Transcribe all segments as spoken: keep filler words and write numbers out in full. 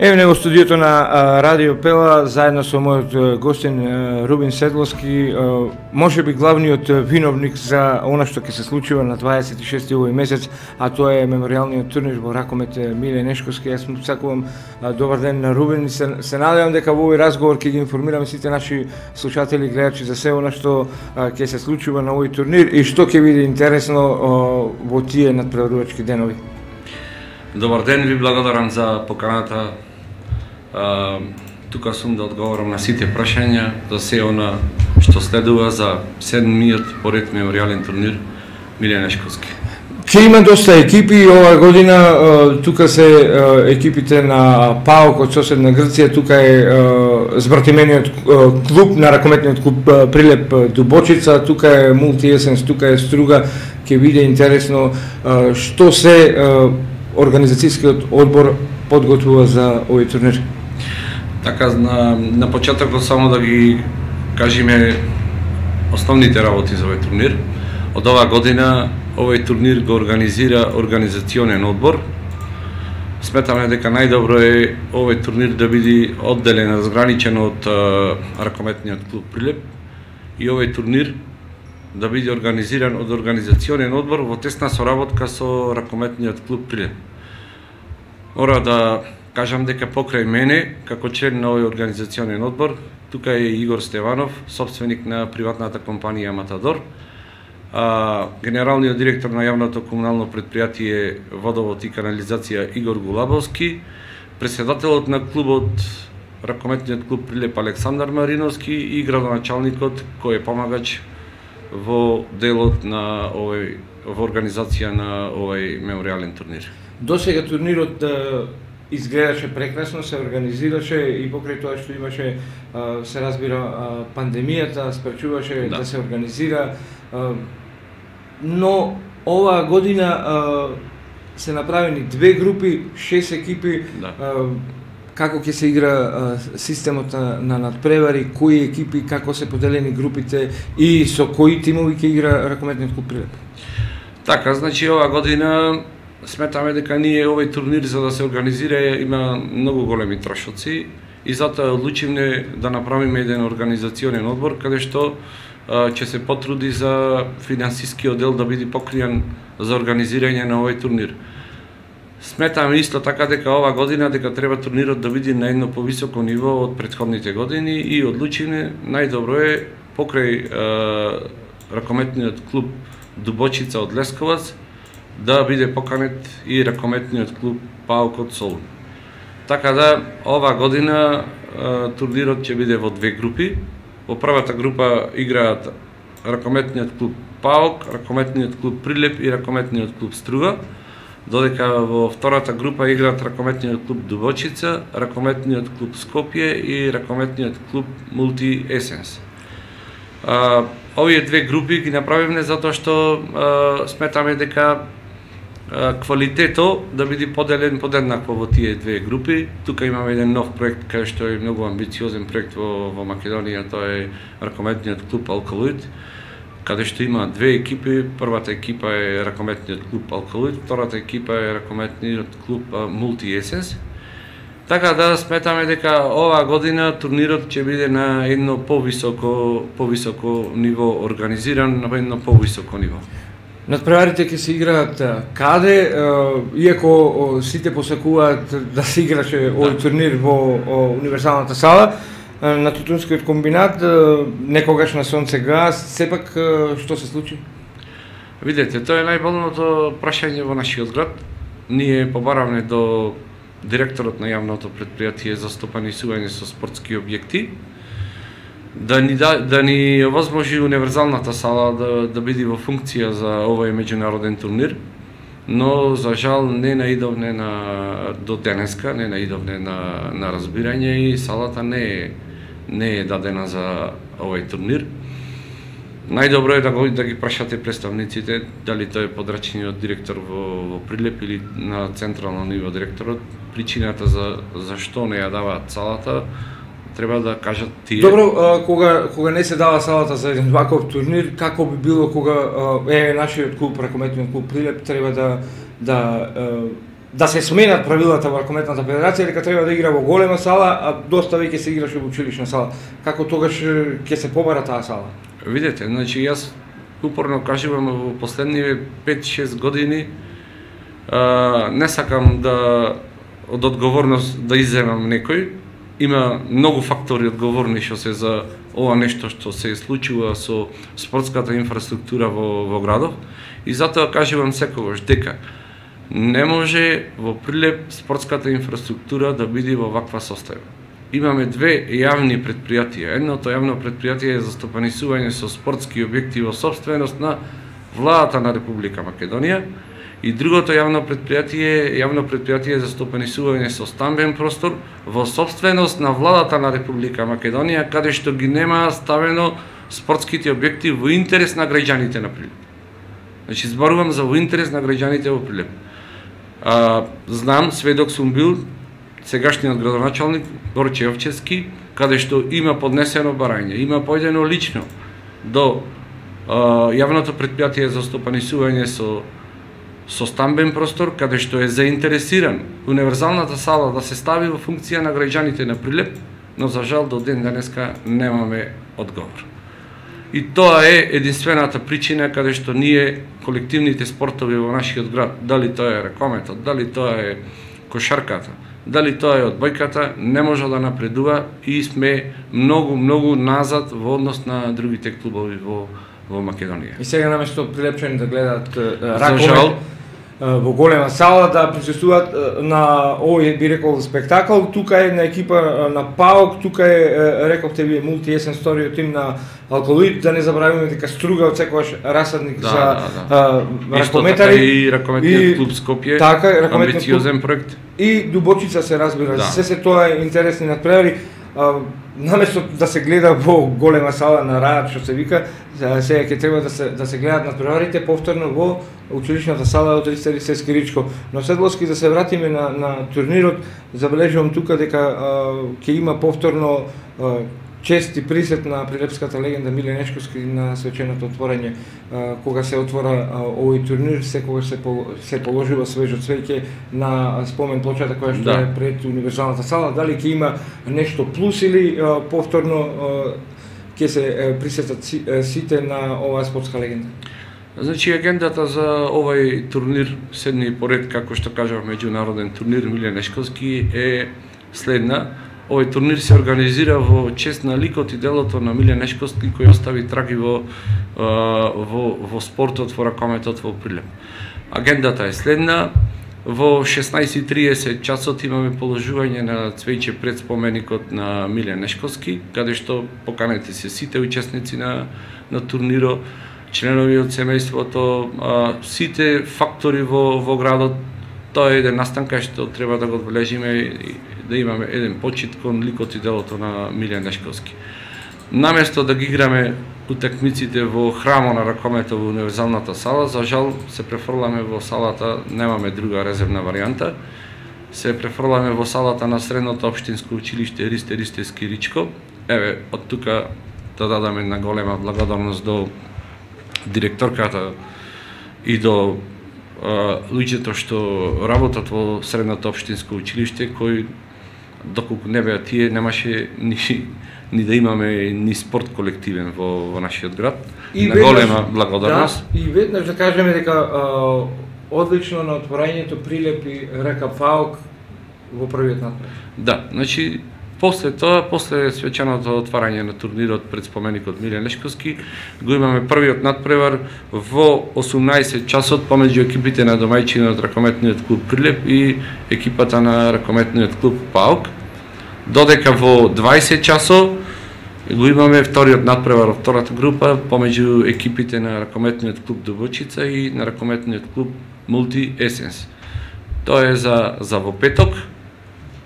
Еве него студиото на а, Радио Пела, заедно со мојот гостин а, Рубин Седловски, а, може би главниот виновник за она што ќе се случува на дваесет и шести овој месец, а тоа е меморијалниот турнир во ракомет Миле Нешковски. Јас му сакувам а, добар ден на Рубин и се, се надевам дека во овој разговор ќе ги информираме сите наши слушатели и гледачи за се она што а, ќе се случува на овој турнир и што ќе биде интересно а, во тие надпреварувачки денови. Добар ден, ви благодарам за поканата. Uh, тука сум да одговорам на сите прашања за се она што следува за седмиот поред меморијален турнир Миле Нешковски. Ќе има доста екипи оваа година, uh, тука се uh, екипите на ПАОК од соседна Грција, тука е uh, збратимениот uh, клуб на ракометниот клуб uh, Прилеп Дубочица, тука е Мулти Есенс, тука е Струга. Ќе биде интересно uh, што се uh, организацијскиот одбор подготвува за овој турнир. Така, на, на почетокот само да ги кажеме основните работи за овој турнир. Од оваа година овој турнир го организира организационен одбор. Сметаме дека најдобро е овој турнир да биде одделен, разграничен од а, ракометниот клуб Прилеп и овој турнир да биде организиран од организационен одбор во тесна соработка со ракометниот клуб Прилеп. Мора да кажам дека покрај мене, како член на овој организационен одбор, тука е Игор Стеванов, собственик на приватната компанија Матадор, а, генералниот директор на јавното комунално предпријатие Водовод и канализација Игор Гулабовски, председателот на клубот, ракометниот клуб Прилеп Александар Мариновски и градоначалникот кој е помагач во делот на овој во организација на овој меморијален турнир. Досега турнирот да изгледаше прекрасно, се организираше и покрај тоа што имаше, се разбира, пандемијата, спречуваше да, да се организира, но оваа година се направени две групи, шест екипи, да. Како ќе се игра системот на надпревари, кои екипи, како се поделени групите и со кои тимови ќе игра ракометниот клуб Прилеп? Така, значи оваа година сметаме дека ние овој турнир за да се организира има многу големи трошоци и затоа одлучивме да направиме еден организационен одбор каде што а, ќе се потруди за финансискиот дел да биде покриен за организирање на овој турнир. Сметаме исто така дека оваа година дека треба турнирот да биде на едно повисоко ниво од претходните години и одлучивме најдобро е покрај а, ракометниот клуб Дубочица од Лесковац да биде поканет и ракометниот клуб ПАОК од Солун. Така да, оваа година а, турнирот ќе биде во две групи. Во првата група играат ракометниот клуб ПАОК, ракометниот клуб Прилеп и ракометниот клуб Струга, додека во втората група играат ракометниот клуб Дубочица, ракометниот клуб Скопје и ракометниот клуб Мулти Есенс. А, овие две групи ги направивме затоа што а, сметаме дека квалитето да биде поделен подеднакво во тие две групи. Тука имаме еден нов проект кај што е многу амбициозен проект во, во Македонија, тоа е ракометниот клуб Алкалоид, каде што има две екипи. Првата екипа е ракометниот клуб Алкалоид, втората екипа е ракометниот клуб Мулти Есенс. Така да сметаме дека оваа година турнирот ќе биде на едно повисоко повисоко ниво, организиран на едно повисоко ниво. Надпреварите ќе се играат каде, иако сите посакуваат да се играше овој турнир во универзалната сала на Тутунскиот комбинат, некогаш на Сонце газ, сепак што се случи? Видете, тоа е најболното прашање во нашиот град. Ние побаравме до директорот на јавното предпријатие за стопанисување со спортски објекти да ни да, да ни овозможи универзалната сала да да биде во функција за овој меѓународен турнир, но за жал не наидовне на до денеска, не наидовне на на разбирање и салата не е не е дадена за овој турнир. Најдобро е да го да ги прашате представниците дали тоа е подрачниот директор во, во Прилеп или на централно ниво директорот. Причината за зашто не ја даваат салата треба да кажат тие. Добро, а, кога кога не се дава салата за еден ваков турнир, како би било кога а, е нашиот клуб, ракометниот клуб Прилеп, треба да да а, да се сменат правилата во ракометната федерација, дека треба да игра во голема сала, а доста веќе се играше во училишна сала. Како тогаш ќе се побара таа сала? Видете, значи јас упорно кажувам во последниве пет-шест години, а, не сакам да од одговорност да изземам некој. Има многу фактори одговорни што се за ова нешто што се случува со спортската инфраструктура во, во градов, и затоа кажувам секогаш дека не може во Прилеп спортската инфраструктура да биде во ваква состојба. Имаме две јавни предпријатија. Едното јавно предпријатие е за стопанисување со спортски објекти во собственост на владата на Република Македонија, и другото јавно предпријатие е јавно предпријатие за стопанисување со стамбен простор во собственост на владата на Република Македонија, каде што ги нема ставено спортските објекти во интерес на граѓаните на Прилеп. Значи зборувам за во интерес на граѓаните во Прилеп. А, знам, сведок сум бил, сегашниот градоначалник Борче Овчевски, каде што има поднесено барање, има појдено лично до а, јавното предпријатие за стопанисување со со стамбен простор, каде што е заинтересиран универзалната сала да се стави во функција на граѓаните на Прилеп, но за жал до ден денеска немаме одговор. И тоа е единствената причина каде што ние колективните спортови во нашиот град, дали тоа е ракометот, дали тоа е кошарката, дали тоа е одбојката, не може да напредува и сме многу многу назад во однос на другите клубови во во Македонија. И сега наместо прилепчани да гледаат ракомет во голема сала, да присуствуваат на овој, би рекол, спектакл. Тука е една екипа на ПАОК, тука е, рековте вие, мултиесен сторио тим на Алкалоид, да не забравиме дека Струга од секогаш расадник да, за да, да. А, ракометари. И ракометниот клуб Скопје, така, амбициозен проект. И Дубочица се разбира, да. Се се тоа е интересни надпревари. Наместо да се гледа во голема сала на раат, што се вика, сега ќе треба да се да се гледат надпреварите повторно во училишната сала од Ристер Исески Ричко. Но Седловски, да се вратиме на на турнирот, забележувам тука дека ќе има повторно а, чест и присет на прилепската легенда Миле Нешковски на свеченото отворање. Кога се отвора овој турнир, секогаш се се положува свежо цвеќе на спомен плочата која што да. Е пред универзалната сала. Дали ќе има нешто плюс или повторно ќе се присетат сите на оваа спортска легенда? Значи, агендата за овој турнир, седми поред, како што кажав, меѓународен турнир Миле Нешковски, е следна. Овој турнир се организира во чест на ликот и делото на Миле Нешковски, кој остави траги во, во, во спортот, во ракометот во Прилеп. Агендата е следна. Во шеснаесет и триесет часот имаме положување на цвеќе пред споменикот на Миле Нешковски, каде што поканети се сите учесници на, на турнирот, членови од семејството, а, сите фактори во, во градот. Тоа е еден настанка што треба да го одбележиме и да имаме еден почит кон ликот и делото на Миле Нешковски. Наместо да ги играме утакмиците во храмо на ракометот во универзалната сала, за жал се префрламе во салата, немаме друга резервна варијанта, се префрламе во салата на средното општинско училиште Ристер Исески Ричко. Еве, од тука да дадаме една голема благодарност до директорката и до луѓето што работат во средното општинско училиште, кои доколку не беа тие, немаше ни, ни да имаме ни спорт колективен во, во нашиот град. И на веднаш, голема благодарност. Да, и веднаш да кажеме дека а, одлично на отворањето Прилеп и река ПАОК во првиот натпревар. Да, значи после тоа, после свеченото отварање на турнирот пред споменикот Миле Нешковски, го имаме првиот натпревар во осумнаесет часот помеѓу екипите на домајчинот ракометниот клуб Прилеп и екипата на ракометниот клуб ПАОК. Додека во дваесет часот го имаме вториот натпревар во втората група помеѓу екипите на ракометниот клуб Дубочица и на ракометниот клуб Мулти Есенс. Тоа е за за во петок,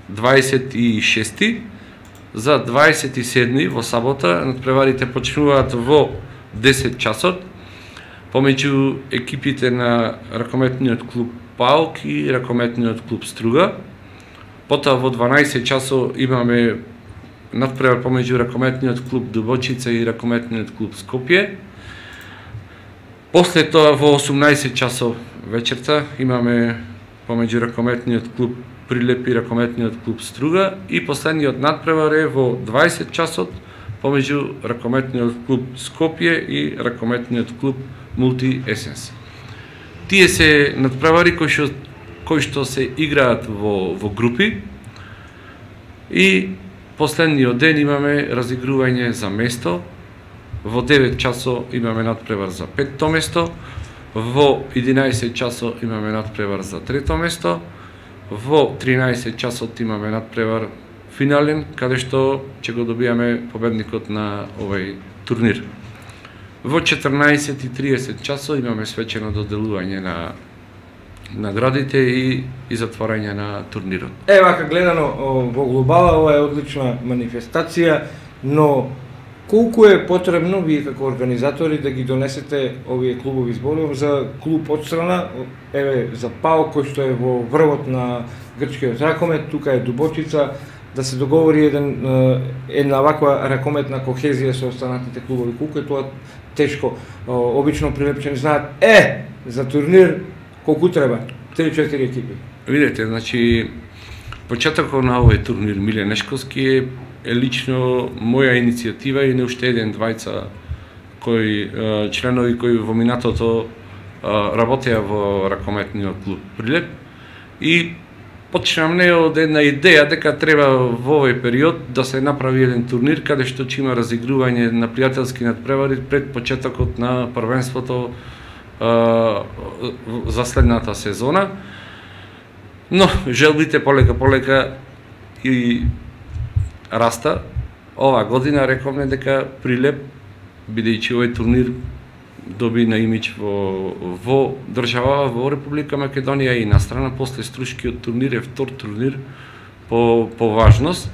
дваесет и шести, за дваесет и седми во сабота надпреварите почнуваат во десет часот помеѓу екипите на ракометниот клуб ПАОК и ракометниот клуб Струга. Потоа во дванаесет часот имаме надпревар помеѓу ракометниот клуб Дубочица и ракометниот клуб Скопје. После тоа во осумнаесет часот вечерта имаме помеѓу ракометниот клуб Прилеп и ракометниот клуб Струга, и последниот надпревар е во дваесет часот помеѓу ракометниот клуб Скопје и ракометниот клуб Мулти Есенс. Тие се надпревари кои што кои што се играат во во групи, и последниот ден имаме разигрување за место. Во девет часот имаме надпревар за петто место, во единаесет часот имаме надпревар за трето место, во тринаесет часот имаме надпревар финален, каде што ќе го добијаме победникот на овој турнир. Во четрнаесет и триесет часот имаме свечено доделување на наградите и, и затворање на турнирот. Е, вака гледано во глобала, ова е одлична манифестација, но колку е потребно вие како организатори да ги донесете овие клубови зборови за клуб одстрана, еве за ПАО кој што е во врвот на грчкиот ракомет, тука е Дубочица, да се договори еден една ваква ракометна кохезија со останатите клубови. Колку е тоа тешко? Обично прилепчени знаат, е, за турнир колку треба? три-четири екипи. Видете, значи почетокот на овој турнир Миле Нешковски е е лично моја иницијатива и не уште еден двајца кои членови кои во минатото работеа во ракометниот клуб Прилеп, и почнам не од една идеја дека треба во овој период да се направи еден турнир каде што ќе има разигрување на пријателски надпревари пред почетокот на првенството за следната сезона. Но желбите полека полека и раста. Ова година рековме дека Прилеп, бидејќи овој турнир доби на имидж во, во држава, во Република Македонија и на страна, после Струшкиот турнир е втор турнир по, по важност.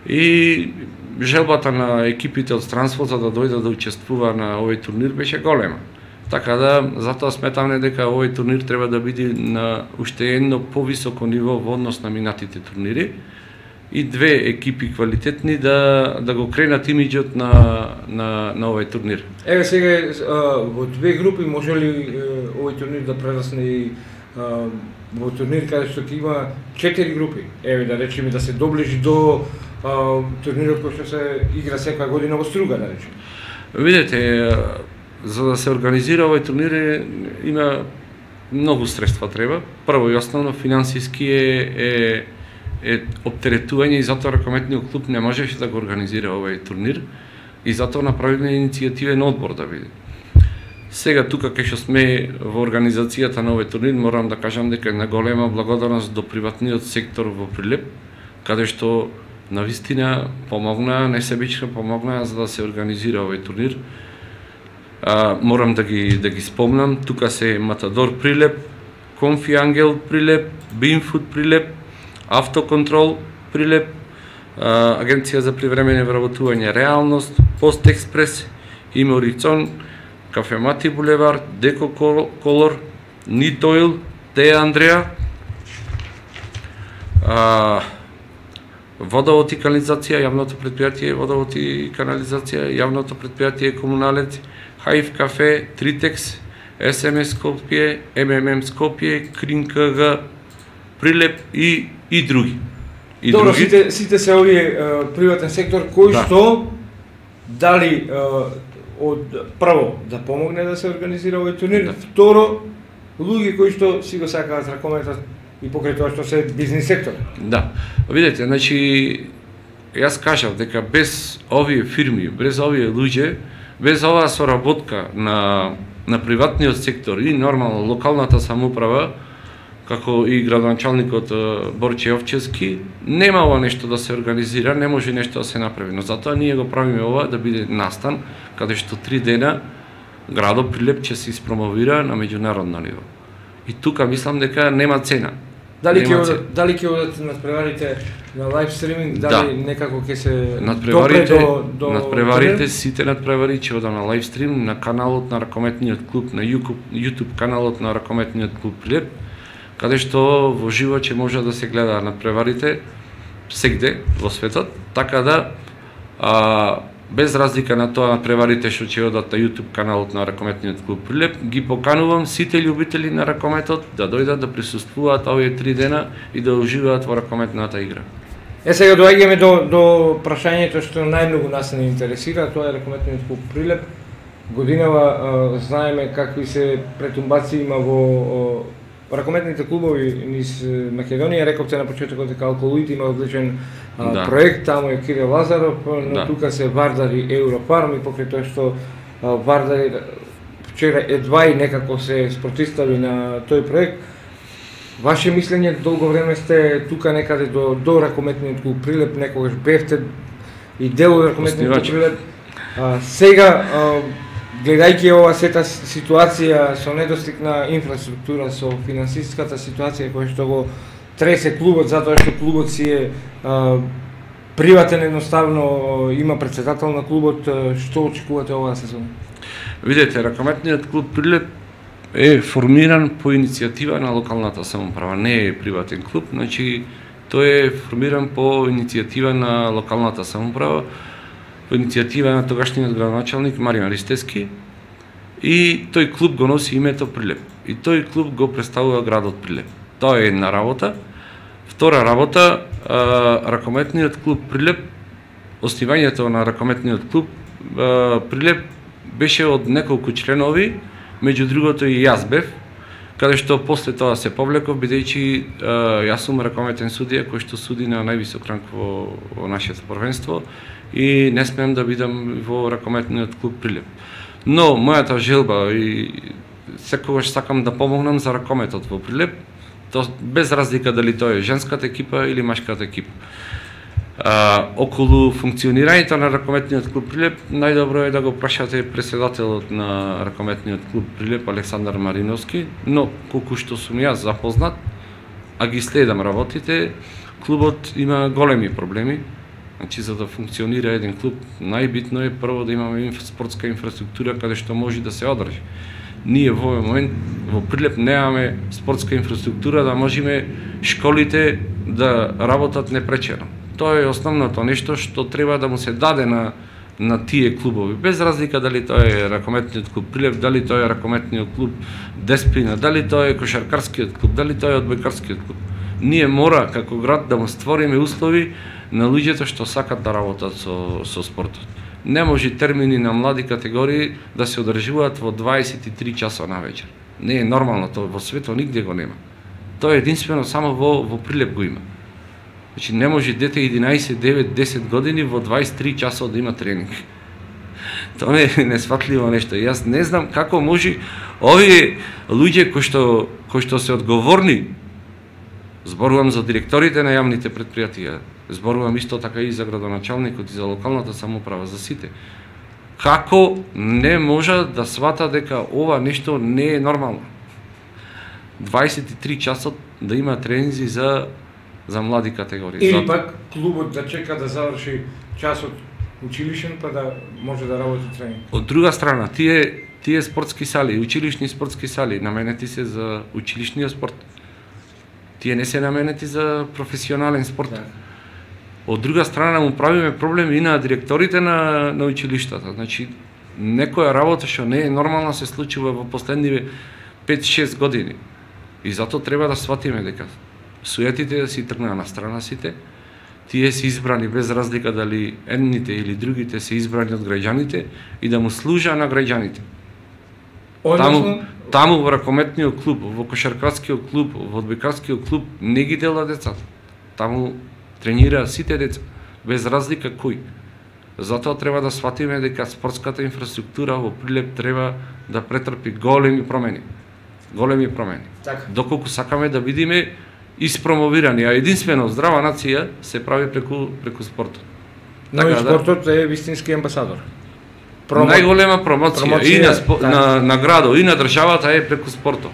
И желбата на екипите од странството да дојдат да учествува на овој турнир беше голема. Така да, затоа сметаме дека овој турнир треба да биде на уште едно повисоко ниво во однос на минатите турнири, и две екипи квалитетни да да го кренат имиџот на на на овој турнир. Еве сега во две групи може ли овој турнир да прерасне и во турнир каде што ќе има четири групи? Еве да речеме да се доближи до турнирот кој што се игра секоја година во Струга, да речеме. Видете, за да се организира овој турнир има многу средства треба. Прво и основно финансиски е, е е оптеретување, и затоа ракометниот клуб не можеше да го организира овој турнир, и затоа направивме иницијативен одбор да биде. Сега тука кај што сме во организацијата на овој турнир, морам да кажам дека на голема благодарност до приватниот сектор во Прилеп, каде што навистина помогна, несебично помогна за да се организира овој турнир. А, морам да ги да ги спомнам, тука се Матадор Прилеп, Конфи Ангел Прилеп, Бинфуд Прилеп, Автоконтрол Прилеп, Агенција за привремено вработување Реалност, Пост Експрес, Иморицон, Кафемати Булевар, Деко Колор, Нитоил, Теја Андреа, Водовод и канализација, јавното предпријатие Водовод и канализација, јавното предпријатие Комуналец, Хаив кафе, Тритекс, Ес Ем Ес Скопје, Ем Ем Ем Скопје, Крин К Г Прилеп и и други. И Добро, други. Сите, сите се овие uh, приватен сектор кој да. што дали uh, од прво да помогне да се организира овој турнир, да. Второ луѓе кои што си го сакаат ракометот и покрај тоа што се бизнис сектор. Да. Видете, значи јас кажав дека без овие фирми, без овие луѓе, без оваа соработка на на приватниот сектор и нормално локалната самоуправа, како и градоначалникот Борче Овчевски, нема ова нешто да се организира, не може нешто да се направи. Но затоа ние го правиме ова да биде настан, каде што три дена градот Прилеп ќе се испромовира на меѓународно ниво. И тука мислам дека нема цена. Дали ќе одат, дали ќе одат надпреварите на лайв стриминг, дали да. Некако ќе се надпреварите до, до надпреварите сите надпревари ќе одат на лайв стрим на каналот на ракометниот клуб, на YouTube каналот на ракометниот клуб Прилеп, каде што во живо ќе може да се гледа надпреварите сегде во светот, така да а, без разлика на тоа на преварите што ќе одат на YouTube каналот на ракометниот клуб Прилеп, ги поканувам сите љубители на ракометот да дојдат да присуствуваат овие три дена и да уживаат во ракометната игра. Е, сега доаѓаме до, до прашањето што најмногу нас не интересира, тоа е ракометниот клуб Прилеп. Годинава а, знаеме какви се претумбации има во а, ракометните клубови низ Македонија. Рековте на почетокот дека Алколуит има одличен а, да. проект, таму е Кирил Лазаров, но да. тука се Вардар и Европарм, и покрај тоа што а, Вардар вчера едва и некако се спротистави на тој проект. Ваше мислење, долго време сте тука некаде до, до ракометниот клуб Прилеп, некогаш бевте и дел од ракометниот клуб Прилеп. А, сега, а, гледајќи ова сета ситуација со недостиг на инфраструктура, со финансиската ситуација која што го тресе клубот, затоа што клубот си е а, приватен, едноставно има претседател на клубот, што очекувате оваа сезона? Видете, ракометниот клуб Прилеп е формиран по иницијатива на локалната самоуправа, не е приватен клуб, значи тој е формиран по иницијатива на локалната самоуправа, по иницијатива на тогашниот градоначалник Маријан Ристевски, и тој клуб го носи името Прилеп. И тој клуб го представува градот Прилеп. Тоа е една работа. Втора работа, а, ракометниот клуб Прилеп, основањето на ракометниот клуб а, Прилеп беше од неколку членови, меѓу другото и јас бев, каде што после тоа се повлеков, бидејќи јас сум ракометен судија кој што суди на највисок ранг во, во нашето првенство и не смеам да бидам во ракометниот клуб Прилеп. Но мојата желба и секогаш сакам да помогнам за ракометот во Прилеп, то без разлика дали тоа е женската екипа или машката екипа. А, околу функционирањето на ракометниот клуб Прилеп, најдобро е да го прашате претседателот на ракометниот клуб Прилеп Александар Мариновски, но колку што сум јас запознат, а ги следам работите, клубот има големи проблеми. Значи, за да функционира еден клуб, најбитно е прво да имаме спортска инфраструктура каде што може да се одржи. Ние во овој момент во Прилеп немаме спортска инфраструктура да можеме школите да работат непречено. Тоа е основното нешто што треба да му се даде на на тие клубови, без разлика дали тоа е ракометниот клуб Прилеп, дали тоа е ракометниот клуб Десплина, дали тоа е кошаркарскиот клуб, дали тоа е одбојкарскиот клуб. Ние мора како град да му створиме услови на луѓето што сакат да работат со со спортот. Не може термини на млади категории да се одржуваат во дваесет и три часа на вечер. Не е нормално, тоа во светот нигде го нема. Тоа е единствено само во во Прилеп го има. Значи не може дете единаесет, девет, десет години во дваесет и три часот да има тренинг. Тоа е несфатливо нешто. Јас не знам како може овие луѓе кои што кои што се одговорни, зборувам за директорите на јавните претпријатија, зборувам исто така и за градоначалникот и за локалната самоуправа, за сите. Како не може да свата дека ова нешто не е нормално? дваесет и три часот да има тренинзи за за млади категории. Или Зато... пак клубот да чека да заврши часот училишен па да може да работи тренинг. Од друга страна, тие тие спортски сали, училишни спортски сали наменети се за училишниот спорт. Тие не се наменети за професионален спорт. Да. Од друга страна му правиме проблем и на директорите на на училиштата. Значи некоја работа што не е нормална се случува во последниве пет-шест години. И затоа треба да сватиме дека суетите да си тргнаа на страна сите, тие се избрани без разлика дали едните или другите се избрани од граѓаните и да му служа на граѓаните. Таму, таму во ракометниот клуб, во кошаркарскиот клуб, во одбојкарскиот клуб не ги дела децата. Таму тренира сите деца, без разлика кој. Затоа треба да сватиме дека спортската инфраструктура во Прилеп треба да претрпи големи промени. Големи промени. Так. Доколку сакаме да бидеме испромовирани, а единствено здрава нација се прави преку преку спортот. Но така, и спортот да, е вистински амбасадор. Промо... Најголема промоција, промоција и на, спо... да. на, на градот и на државата е преку спортот.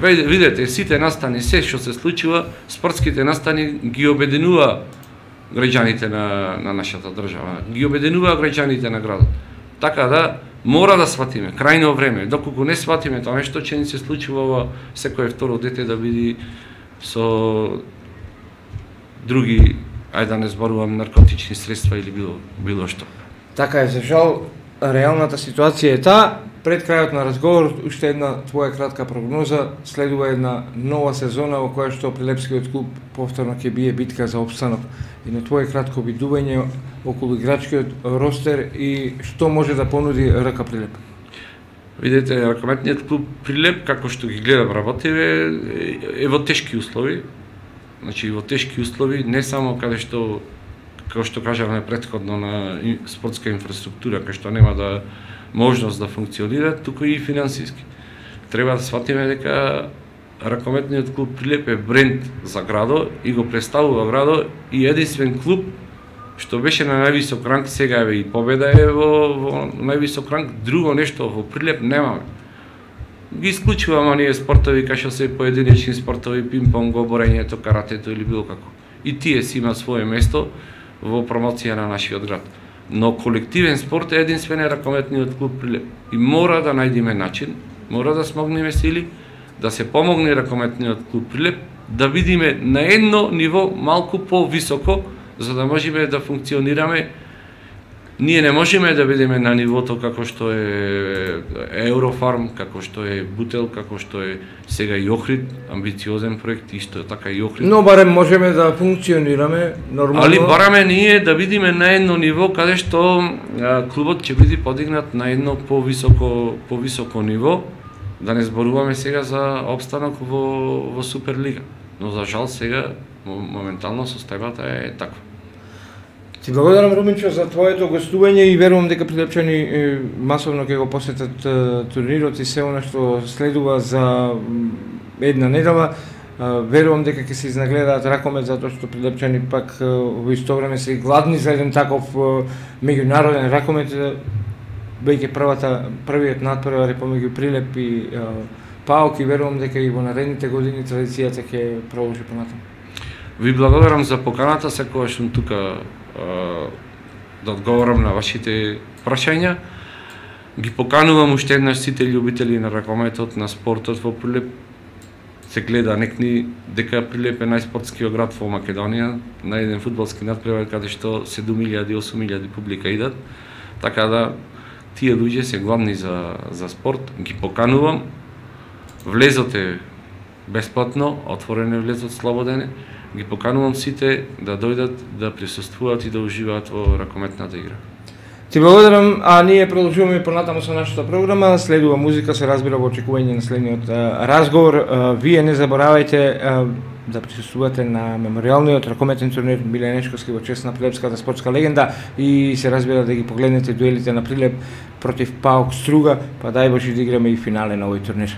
Видете, сите настани, се што се случува, спортските настани ги обединува граѓаните на, на нашата држава, ги обединува граѓаните на градот. Така да, мора да сватиме, крајно време, доколку не сватиме тоа нешто, че ни се случува во секое второ дете да биде со други, ајде да не зборувам, наркотични средства или било, било што. Така е, за жал, реалната ситуација е таа. Пред крајот на разговор, уште една твоја кратка прогноза, следува една нова сезона во која што Прилепскиот клуб повторно ќе бие битка за опстанок. И на твое кратко видување околу играчкиот ростер и што може да понуди РК Прилеп? Видете, ракометниот клуб Прилеп, како што ги гледам работиве, е во тешки услови. Значи, во тешки услови, не само каде што, како што кажавме претходно, на спортска инфраструктура, кај што нема да можност да функционира, туку и финансиски. Треба да сватиме дека ракометниот клуб Прилеп е бренд за градо и го представува градо и единствен клуб што беше на највисок ранг, сега е и победа е во, во највисок ранг, друго нешто во Прилеп немаме. Ги исклучуваме ние спортови кај што се поединечни спортови, пинг-понг, борењето, каратето или било како. И тие си имаат свое место во промоција на нашиот град. Но колективен спорт е единствен е ракометниот клуб Прилеп. И мора да најдеме начин, мора да смогнеме сили, да се помогне ракометниот клуб Прилеп, да видиме на едно ниво малку по-високо, за да можеме да функционираме. Ние не можеме да бидеме на нивото како што е Еврофарм, како што е Бутел, како што е сега и Охрид, амбициозен проект, исто така и Охрид. Но барем можеме да функционираме нормално. Али бараме ние да бидеме на едно ниво каде што а, клубот ќе биде подигнат на едно повисоко повисоко ниво, да не зборуваме сега за опстанок во во Суперлига. Но за жал сега моментално состојбата е таква. Ти благодарам, Руминчо, за твоето гостување и верувам дека прилепчани масовно ќе го посетат турнирот и се она што следува за една недела. Верувам дека ќе се изнагледаат ракомет, затоа што прилепчани пак во исто време се гладни за еден таков меѓународен ракомет, бејќи првата првиот натпревар е помеѓу Прилеп и ПАОК, и верувам дека и во наредните години традицијата ќе продолжи понатаму. Ви благодарам за поканата, секогаш сум тука да одговорам на вашите прашања. Ги поканувам уште еднаш сите љубители на ракометот, на спортот во Прилеп. Се гледа некни дека Прилеп е најспортскиот град во Македонија, на еден фудбалски натпревар каде што седум илјади осум илјади публика идат. Така да тие луѓе се гладни за за спорт, ги поканувам. Влезот е бесплатно, отворен е влезот, слободен е. Ги поканувам сите да дојдат, да присуствуваат и да уживаат во ракометната игра. Ти благодарам, а ние продолжуваме понатаму со нашата програма. Следува музика, се разбира во очекување на следниот разговор. Вие не заборавајте да присуствувате на меморијалниот ракометен турнир Миле Нешковски во чест на прилепската спортска легенда и се разбира да ги погледнете дуелите на Прилеп против ПАОК Струга, па дај Боже да играме и финале на овој турнир.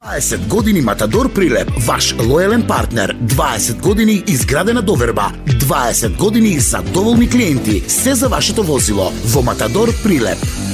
дваесет години Матадор Прилеп, ваш лојален партнер. дваесет години изградена доверба. дваесет години задоволни клиенти. Се за вашето возило во Матадор Прилеп.